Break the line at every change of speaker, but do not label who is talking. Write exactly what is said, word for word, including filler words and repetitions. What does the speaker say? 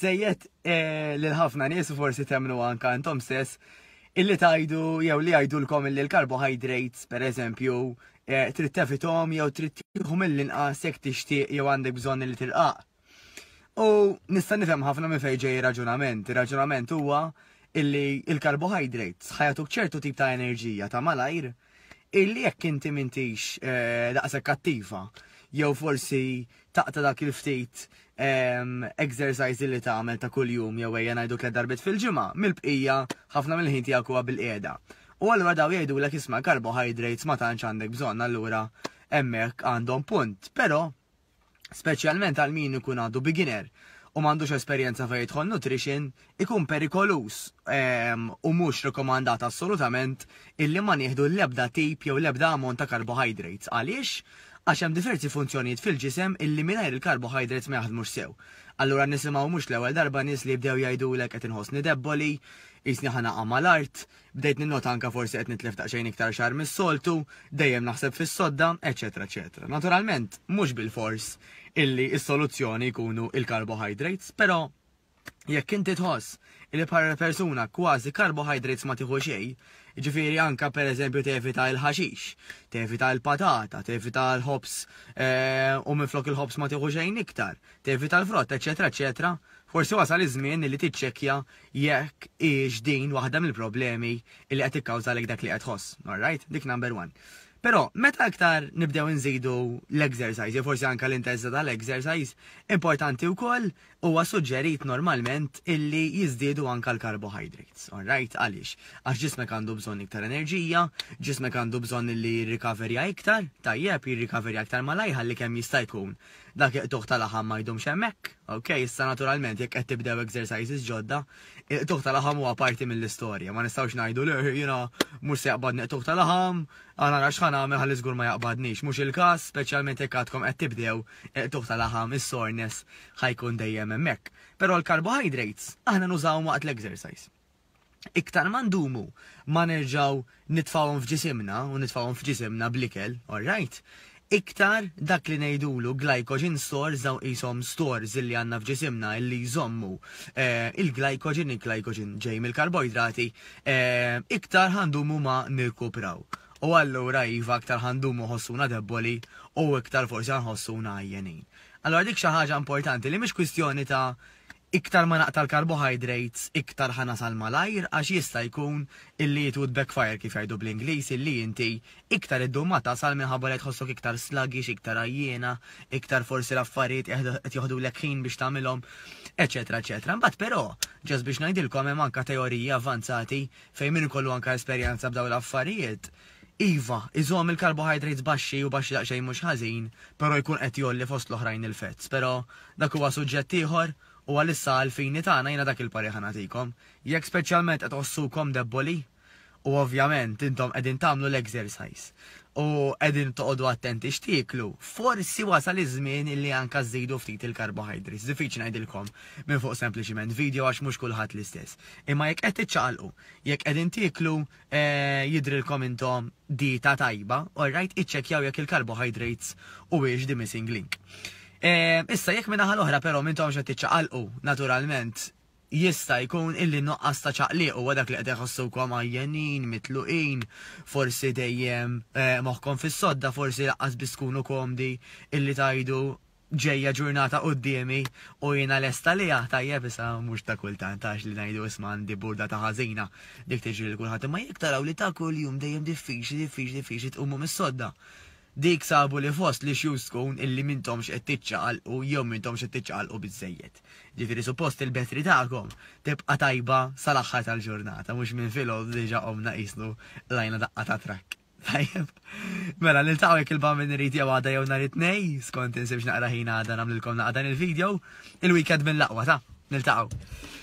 Biżżejjed eh, lil ħafna nies u forsi temmnu anka intom stess illi tgħidu jew li jgħidulkom illi l-carbohydrates, per eżempju, eh, trid tevitahom jew trid tieħu mill-inqas jekk tixtieq jew għandek bżonn li tirqaq. U nista' nifhem ħafna minn fejn ġej raġunament. Ir-raġunament huwa illi il-carbohydrates ħa jagħtuk ċertu tip ta' enerġija ta' malajr illi jekk inti m'intix eh, daqshekk attiva jew forsi taqta' dak il-ftit exercise li tagħmel ta' kuljum jew ejja ngħidu tliet darbiet fil-ġimgħa, mill-bqija ħafna mill-ħin tiegħek huwa bil-qiegħda. U allura daw jgħidulek, "Isma', carbohydrates ma tantx għandek bżonn." Allura hemmhekk għandhom punt. Però speċjalment għal min ikun għadu beginner u m'għandux esperjenza fejn jidħol nutrition, ikun perikolus u mhux rekomandat assolutament illi ma nieħdu l-ebda tip jew l-ebda ammont ta' carbohydrates. Għaliex? Għax hemm diversi funzjonijiet fil-ġisem illi mingħajr il-carbohydrates ma jaħdmux sew. Allura nisimgħu mhux l-ewwel darba nies li jibdew jgħidulek, "Qed inħossni debboli, qisni ħa naqa' mal-art, bdejt ninnota anka forsi qed nitlef daqsxejn iktar xagħar mis-soltu, dejjem naħseb fis-sodda," eċetera eċetera. Naturalment, mhux bil-fors illi s-soluzzjoni jkunu il-carbohydrates, però jekk inti tħoss illi bħala persuna kważi carbohydrates ma tieħu xejn, ġifieri anka per eżempju tevita il-ħaxix, tevita il-patata, tevita l-ħobż eh, u minflok il-ħobż ma tieħu xejn iktar, tevita l-frott, eċetera, eċetera, forsi wasal iż-żmien li tiċċekkja jekk hix din waħda mill-problemi li qed tikkawżalek dak li qed tħoss. Alright? Dik number one. Però meta aktar nibdew nżidu l-exercise, jew forsi anka l-intensità tal-exercise, importanti wkoll huwa suġġerit normalment illi jiżdiedu anka l-carbohydrates. Alright, għaliex? Għax ġismek għandu bżonn iktar enerġija, ġismek għandu bżonn illi jirrikaverja iktar, tajjeb, jirrikaverja iktar malajr ħalli kemm jista' jkun dak il-qtugħ tal-laħam ma jdumx hemmhekk. Ok, issa naturalment jekk qed tibdew exercises ġodda, il-qtugħ tal-laħam huwa parti mill-istorja. Ma nistgħux ngħidu li jiena mhux se jaqbadni qtugħ tal-laħam, għana nara x'ħa nagħmel ħalli żgur ma jaqbadnix. Mhux il-każ, speċjalment jekk għadkom qed tibdew, il-qtugħ tal-laħam, is-soreness ħa jkun dejjem hemmhekk. Però l-carbohydrates aħna nużawhom waqt l-exercise. Iktar ma ndumu ma nerġaw nitfawhom f'ġisimna u nitfawhom f'ġisimna bl-ikel, alright? Iktar dak li ngħidulu glycogen stores, daw qishom stores illi għandna f'ġisimna illi jżommu eh, il-glycogen, il-glycogen ġej mill-karboidrati, eh, iktar ħa ndumu ma nirkupraw. U allura iva, iktar ħa ndumu nħossuna debboli u iktar forsi nħossuna għajjenin. Allora dik xi ħaġa importanti li mhix kwistjoni ta' iktar ma naqta' l-carbohydrates, iktar ħa nasal malajr, għax jista' jkun illi it would backfire, kif jgħidu bl-Ingliż, illi inti iktar iddum ma tasal minħabba li tħossok iktar sluggish, iktar għajjiena, iktar forsi l-affarijiet qed joħdulek ħin biex tagħmilhom, eċetera, eċetera. Mbagħad però, just biex ngħidilkom, hemm anka teoriji avvanzati fejn min ikollu anka esperjenza b'dawn l-affarijiet, iva, iżomm il-carbohydrates baxxi u baxxi daqsxejn mhux ħażin, però jkun qed jgħolli fost l-oħrajn il-fats. Però dak huwa suġġett ieħor u għalissa għal-fini tagħna jiena dak il-parir ħa nagħtikom. Jekk speċjalment qed tħossukom debboli u ovvjament intom qegħdin tagħmlu l-exercise u qegħdin toqogħdu attenti x'tieklu, forsi wasal iż-żmien illi anka żidu ftit il-carbohydrates. Diffiċli ngħidilkom minn fuq sempliċiment video għax mhux kulħadd l-istess. Imma jekk qed tiċċaqalqu, jekk qegħdin tieklu eh, jidrilkom intom dieta tajba, alright, iċċekkjaw jekk il-carbohydrates huwiex the missing link. Eh, issa jekk minn l-oħra però m'intomx qed tiċċaqalqu, naturalment jista' jkun illi nuqqas ta' ċaqliq u dak li qed iħossukom għajjenin, mitluqin, forsi dejjem eh, moħħkom fis-sodda, forsi lanqas biss tkunu komdi illi tgħidu, "Ġejja ġurnata quddiemi u jiena lesta li tajjeb." Issa mhux ta' kultant għax li ngħidu, "Isma', għandi burda ta' ħażina," dik tiġri lil kulħadd, imma jekk taraw li ta' kuljum dejjem diffiċli, diffiċli, diffiċli tqumu mis-sodda. Dik sabu li fost li xjus tkun illi m'intomx qed tiċċaqalqu jew m'intomx qed tiċċaqalqu biżejjed. Ġifieri suppost il-battery tagħkom tibqa' tajba sal-aħħar tal-ġurnata, mhux minn filgħodu diġà qomna qisnu qlajna daqqa ta' trakk. Tajjeb. Mela, niltaqgħu jekk il-Bambin irid jew għada jew nhar it-Tnejn, skont insibx naqra ħin għada nagħmlilkom naqra dan il-video. Il-weekend mill-aqwa ta' niltaqgħu.